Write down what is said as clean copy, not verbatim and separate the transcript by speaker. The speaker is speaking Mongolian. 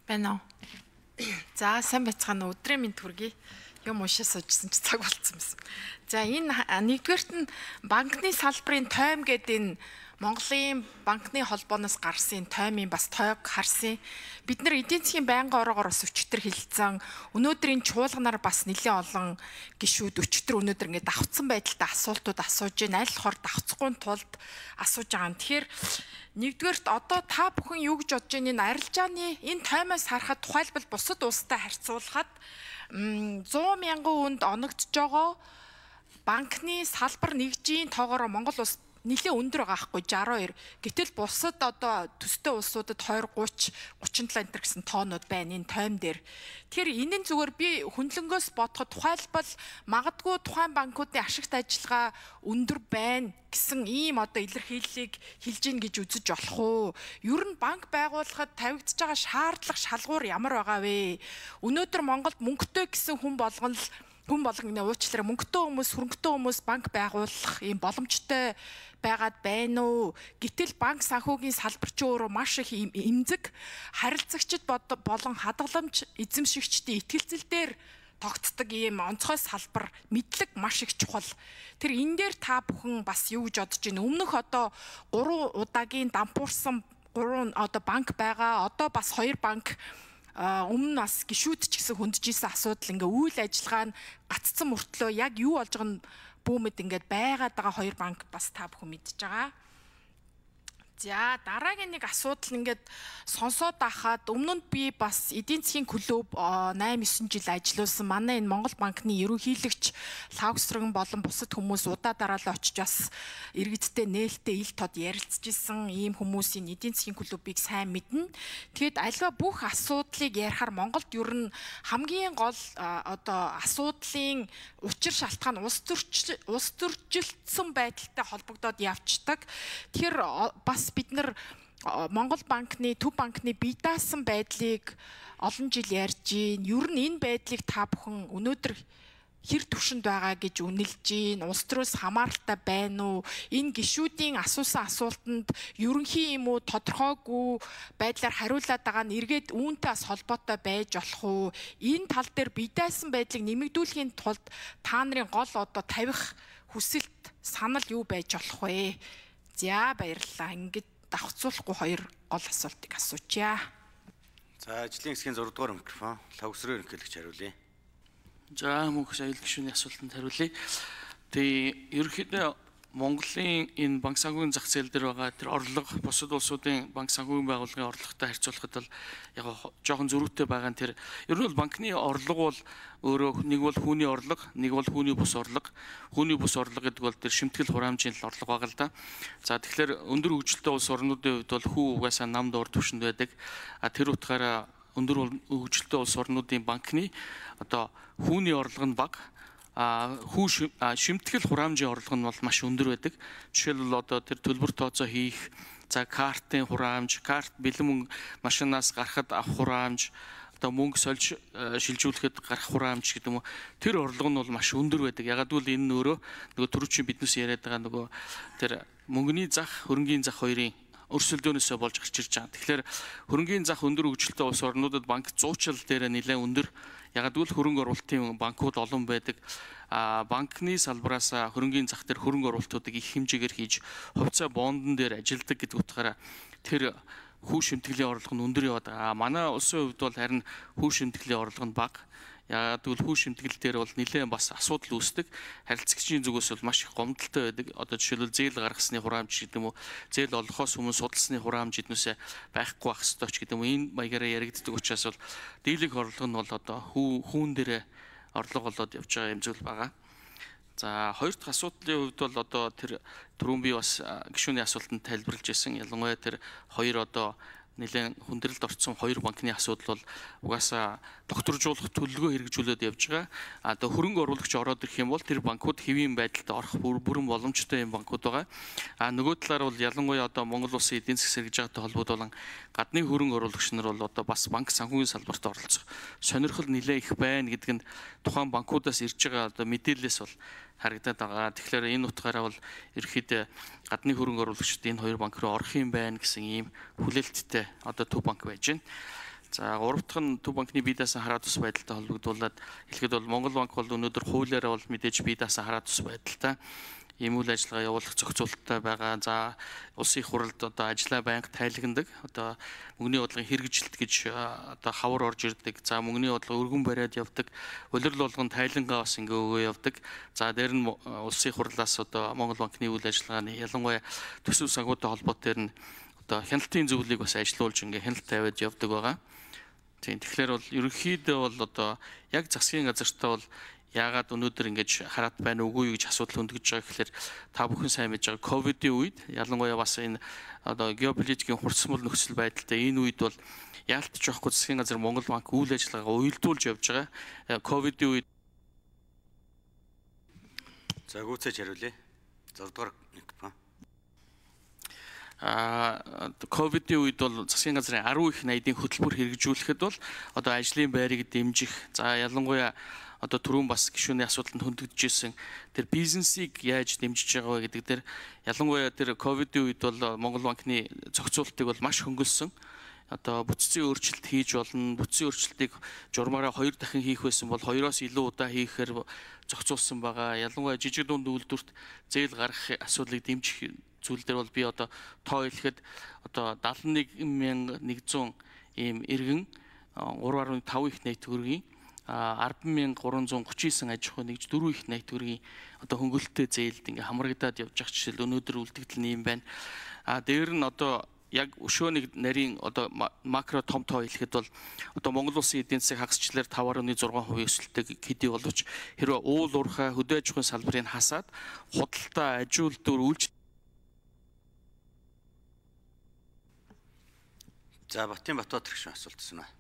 Speaker 1: Байна уу? За сайн байцгаана. Өдрийн мэнд хүргэе. Юм уушаа суужсан ч цаг болцсон байсан. За энэ нэгдүгээрт нь банкны салбарын тойм гэдэг энэ Монголын банкны холбооноос гарсан тоймын бас тойг харсан. Бид нар эдийн засгийн байнгын ороогоор бас өчтөр хилцэн өнөөдрийн чуулганаар бас нэлээд олон гишүүд өчтөр өнөөдөр ингээд давхцсан байдалтай асуултууд асууж байна. Аль хор давхцахгүй тулд асууж байгаа юм. Тэгэхээр нэгдүгээрт одоо та бүхэн юу гэж бодож байна? Энэ арилжааны энэ тоймоос харахад тухайлбал бусад улстай харьцуулахад 100 мянган хүнд оногдож байгаа банкны салбар нэгжийн тоогоор Монгол улс нэлээ өндөр байгаа хгүй 62. Гэтэл бусад одоо төстэй улсуудад 20, 30, 37 энэ гэсэн тоонууд байна энэ тойм дээр. Тэгэхээр энэ нь зүгээр би хөндлөнгөөс бодоход тухайлбал магадгүй тухайн банкуудын ашигт ажиллагаа өндөр байна гэсэн ийм одоо илэрхийллийг хэлж гин гэж үзэж болох уу? Ер нь банк байгуулахад тавигдж байгаа шаардлага шалгуур ямар байгаа вэ? Өнөөдөр Монголд мөнгөтэй гэсэн хүн болгон уучлаарай мөнгөтэй хүмүүс, хөрөнгөтэй хүмүүс банк байгуулах ийм боломжтой байгаад байна уу? Гэтэл банк санхүүгийн салбар ч өөрөө маш их эмзэг, харилцагчид болон хадгаламж эзэмшигчдийн итгэлцэл дээр тогтдог ийм онцгой салбар мэдлэг маш их чухал. Тэр энэ дээр та бүхэн бас юу гэж бодож байна? Өмнөх одоо 3 удаагийн дампуурсан 3 одоо банк байгаа. Одоо бас 2 банк өмнө нас гişүүд ч гэсэн хөндөжсэн асуудал ингээ үйл ажиллагаа нь гаццсан мөртлөө яг юу болж байгаа нь бүүмэд ингээд байгаад байгаа 2 банк бас та бүхэн мэдж байгаа. За дараагийн нэг асуудал ингээд сонсоод байхад өмнө нь би бас эдийн засгийн клуб 8-9 жил ажилласан. Манай энэ Монгол банкны ерөнхийлөгч Лавгсрогн болон бусад хүмүүс удаа дараалал очиж бас иргэдтэй нээлттэй ил тод ярилцж исэн ийм хүмүүсийн эдийн засгийн клубыг сайн мэднэ. Тэгэд альва бүх асуудлыг ярихаар Монголд ер нь хамгийн гол одоо асуудлын учир шалтгаан улс төржилтсөн байдалтай холбогдоод явцдаг. Тэгэхээр бас бид нар Монгол банкны, Төв банкны бие даасан байдлыг олон жил ярьж гин. Ер нь энэ байдлыг та бүхэн өнөөдөр хэр түвшинд байгаа гэж үнэлж гин. Улс төрөөс хамааралтай байна уу? Энэ гишүүдийн асуусан асуултанд ерөнхий юм уу тодорхойгүй байдлаар хариулаад байгаа нь эргээд үүнтэй бас холбоотой байж болох уу? Энэ тал дээр бие даасан байдлыг нэмэгдүүлэхийн тулд та нарын гол одоо тавих хүсэлт, санал юу байж болох вэ? За баярлалаа. Ингээд давхцуулахгүй 2 гол асуултыг асуучаа.
Speaker 2: За ажлын хэсгийн 6 дугаар микрофон Лавгсрогн ерөнхийлөгч хариулъя.
Speaker 3: За мөнх аюул гишүүний асуултанд хариулъя. Тэгээ ерөнхийдөө Монголын энэ банк санхүүгийн зах зээл дээр байгаа тэр орлого бусад улсуудын банк санхүүгийн байгууллагын орлоготой харьцуулахад бол яг жоохон зөрүүтэй байгаа нь тэр ер нь бол банкны орлого бол өөрөө нэг бол хүүний орлого, нэг бол хүүний бус орлого. Хүүний бус орлого гэдэг бол тэр шимтгэл хураамжийн орлого байгаа л да. За тэгэхээр өндөр хөгжилтэй улс орнуудын хувьд бол хүү угаасаа намд ор түвшинд байдаг. Тэр утгаараа өндөр хөгжилтэй улс орнуудын банкны одоо хүүний орлого нь бага. Шимтгэл хураамжийн орлого нь бол маш өндөр байдаг. Жишээлбэл одоо тэр төлбөр тооцоо хийх, за картын хураамж, карт бэлэн мөнгө машинаас гарахад авах хураамж, одоо мөнгө сольж шилжүүлэхэд гарах хураамж гэдэг юм уу. Тэр орлого нь бол маш өндөр байдаг. Ягаад гэвэл энэ нь өөрөө нөгөө түрүүчийн биднээс яриад байгаа нөгөө тэр мөнгөний зах, хөрөнгийн зах хоёрын өрсөлдөөнөөсөө болж гарч ирж байгаа. Тэгэхээр хөрөнгийн зах өндөр хөгжилтэй улс орнуудад банк зуучил дээр нэлээд өндөр. Ягаад гэвэл хөрөнгө оруулалтын банкуд олон байдаг. Банкны салбараас хөрөнгийн зах дээр хөрөнгө оруулалтуудыг их хэмжээгээр хийж хувьцаа бондон дээр ажилдаг гэдэг утгаараа тэр хүү шимтгэлийн орлого нь өндөр яваад байгаа. Манай улсын хувьд бол харин хүү шимтгэлийн орлого нь бага. Ягаад гэвэл хүү шимтгэл дээр бол нэлээд бас асуудал үүсдэг. Харилцагчийн зүгээс бол маш их гомдолтой байдаг. Одоо жишээлбэл зээл гаргасны хураамж гэдэг юм уу, зээл олохоос өмнө судалсны хураамж эднээсээ байхгүй байх ёстой ч гэдэг юм уу. Энэ маягаараа яригддаг учраас бол дийлэнх орлого нь бол одоо хүүн дээрээ орлого болоод явж байгаа юм зүйл байгаа. За хоёр дахь асуудлын хувьд бол одоо тэр түрүүн би бас гишүүний асуултанд тайлбарлаж ирсэн. Ялангуяа тэр хоёр одоо нэлээд хүндрэлд орсон 2 банкны асуудал бол угаасаа докторжуулах төлөвлөгөө хэрэгжүүлээд явж байгаа. Одоо хөрөнгө оруулагч ороод ирэх юм бол тэр банкуд хэвийн байдалд орох бүрэн боломжтой юм банкуд байгаа. Нөгөө талаар бол ялангуяа одоо Монгол улсын эдийн засаг сэргэж байгаатай холбоотой гадны хөрөнгө оруулагч нар бол одоо бас банк санхүүгийн салбарт оролцох сонирхол нэлээд их байна гэдэг нь тухайн банкудаас ирж байгаа одоо мэдээлэлээс бол харагдаад байгаа. Тэгэхээр энэ утгаараа бол ерөөхдөө гадны хөрөнгө оруулагчид энэ 2 банк руу орох юм байна гэсэн ийм хүлээлттэй одоо Төв банк байж байна. За гурав дахь нь Төв банкны бие даасан хараа тус байдалтай холбогдуулаад хэлэхэд бол Монгол банк бол өнөөдөр хуулиараа бол мэдээж бие даасан хараа тус байдалтай ийм үйл ажиллагаа явуулах зохицуулалттай байгаа. За улсын их хурлд одоо ажлаа байнга тайлагнадаг. Одоо мөнгөний бодлогын хэрэгжилт гэж одоо хавар орж ирдэг. За мөнгөний бодлого өргөн бариад явдаг. Улирал болгон тайлангаа бас ингээ өгөө явдаг. За дээр нь улсын их хурлаас одоо Монгол банкны үйл ажиллагааны ялангуяа төсөв санхүүтэй холбоотой нь одоо хяналтын зөвлөлийг бас ажилуулж ингээ хяналт тавиад явдаг байгаа. Тийм тэгэхээр бол ерөнхийдөө бол одоо яг засгийн газартаа бол яагаад өнөөдөр ингэж хараат байна уугүй гэж асуудал хөндөгж байгаа гэхээр та бүхэн сайн мэдж байгаа ковидын үед ялангуяа бас энэ одоо геополитикийн хурцмал нөхцөл байдалтай энэ үед бол яалтч байхгүй засгийн газар Монгол банк үйл ажиллагаагаа уялдуулж явж байгаа. Ковидын үед
Speaker 2: За гүйцээж хариулъя. 6 дугаар микрофон.
Speaker 3: ковидын үед бол засгийн газрын 10 их найдын хөтөлбөр хэрэгжүүлэхэд бол одоо ажлын байрыг дэмжих за ялангуяа одоо түрүүн бас гишүүний асуудалд хөндөгдөж ирсэн тэр бизнесийг яаж дэмжиж байгаа вэ гэдэг дээр ялангуяа тэр ковидын үед бол Монгол банкны зохицуултыг бол маш хөнгөлсөн. Одоо бүтцийн өөрчлөлт хийж болно. Бүтцийн өөрчлөлтийг журмаараа 2 дахин хийх байсан бол 2-оос илүү удаа хийхээр зохицуулсан байгаа. Ялангуяа жижиг дунд үйлдвэрт зээл гаргах асуудлыг дэмжих зүйл дээр бол би одоо тоо хэлэхэд одоо 71,100 ийм иргэн 3.5 их найт төгрөгийн 10,339 аж ахуй нэгж 4 их найт төгрөгийн одоо хөнгөлөлттэй зээлд ингээ хамрагдаад явж байгаа жишээл өнөөдөр үлдэгдэл нь юм байна. Дээр нь одоо яг өшөөний нарийн одоо макро том тоо хэлэхэд бол одоо Монгол улсын эдийн засаг хагасчлаар 5.6% өсөлттэй хэдий боловч хэрвээ уул уурхай хөдөө аж ахуйн салбарыг хасаад худалдаа аж үйлдвэр үйлч
Speaker 2: За Батын Батбаатар гишүүн асуулт байна.